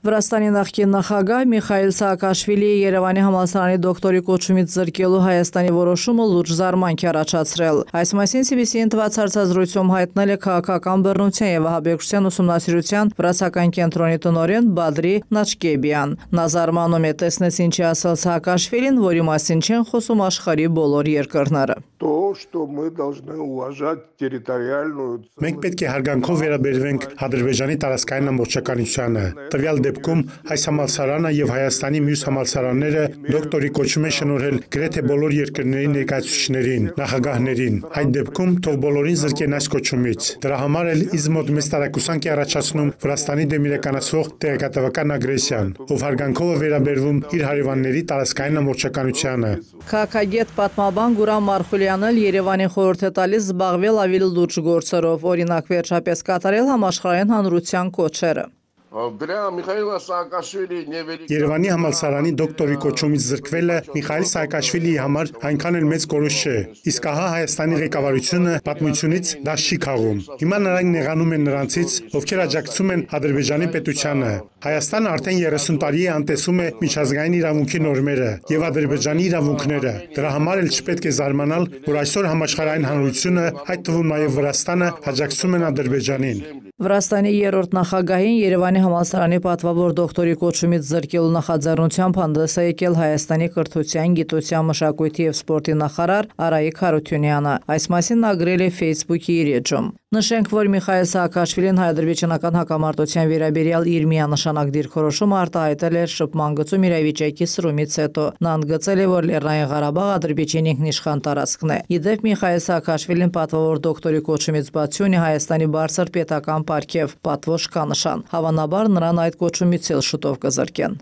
Վրաստանի նախկին նախագահ Միխայիլ Սաակաշվիլիի Երևանի համալսարանի դոկտորի կոչումից զրկելու Հայաստանի որոշումը լուրջ զարմանք է առաջացրել։ Այս մասին CBC-ին տված հարցազրույցում հայտնել է քաղաքական բռնության եւ ահաբեկչության ուսումնասիրության վրացական կենտրոնի տնօրեն Բադրի Նաչկեբյան։ Նա զարմանում է տեսնես ինչի ասել Սաակաշվիլին, որի մասին չեն խոսում աշխարհի բոլոր երկրները։ Մենք պետք է հարգանքով վերաբերվենք Ադրբեջանի տարածքային ամբողջականությանը։ Տվյալ դեպքում այս համալսարանը եւ Հայաստանի մյուս համալսարանները դոկտորի կոչում են շնորհել գրեթե բոլոր երկրների ներկայացուցիչներին, նախագահներին։ Այդ դեպքում թող բոլորին զրկեն այս կոչումից։ Դրա համար էլ ինձ մոտ մեծ տարակուսանք է առաջացնում Վրաստանի դեմ իրականացվող տեղեկատվական ագրեսիան, ով հարգանքով է վերաբերվում իր հարևանների տարածքային ամբողջականությանը։ Քաղաքագետ պատմաբան Գուրամ Մարխուլյանն Երևանի խորհուրդ է տալիս զբաղվել ավելի լուրջ գործերով, օրինակ վերջապես կատարել համաշխարհային հանրության կոչերը։ Երևանի համալսարանի դոկտորի կոչումից զրկվելը Միխայիլ Սաակաշվիլիի համար այնքան էլ մեծ կորուստ չէ, իսկ ահա Հայաստանի ղեկավարությունը պատմությունից դաս չի քաղում։ Հիմա նրանք նեղանում են նրանցից, ովքեր աջակցում են Ադրբեջանի պետությանը։ Հայաստանը արդեն 30 տարի է անտեսում է միջազգային իրավունքի նորմերը եւ Ադրբեջանի իրավունքները։ Դրա համար էլ չպետք է զարմանալ, որ այսօր համաշխարհային հանրությունը, այդ թվում նաեւ Վրաստանը, աջակցում են Ադրբեջանին։ Վրաստանի երրորդ նախագահին Երևանի համալսարանի պատվավոր դոկտորի կոչումից զրկելու նախաձեռնությամբ հանդես է եկել Հայաստանի կրթության, գիտության, մշակույթի եւ սպորտի նախարար Արայիկ Հարությունյանը։ Այս մասին նա գրել է Facebook-ի իր էջում։ Նշենք, որ Միխայիլ Սաակաշվիլին հայ-ադրբեջանական հակամարտության վերաբերյալ իր միանշանակ դիրքորոշումը արտահայտել էր շփման գծում իրավիճակի սրումից հետո։ Նա ընդգծել է, որ Լեռնային Ղարաբաղը Ադրբեջանի ինքնիշխան տարածքն է։ Իդեպ Միխայիլ Սաակաշվիլին պատվավոր դոկտորի կոչումից բացի ունի Հայաստանի բարձր պետական պարգև, պատվոշ կանշան։ Հավանաբար նրան այդ կոչումից էլ շուտով կզրկեն։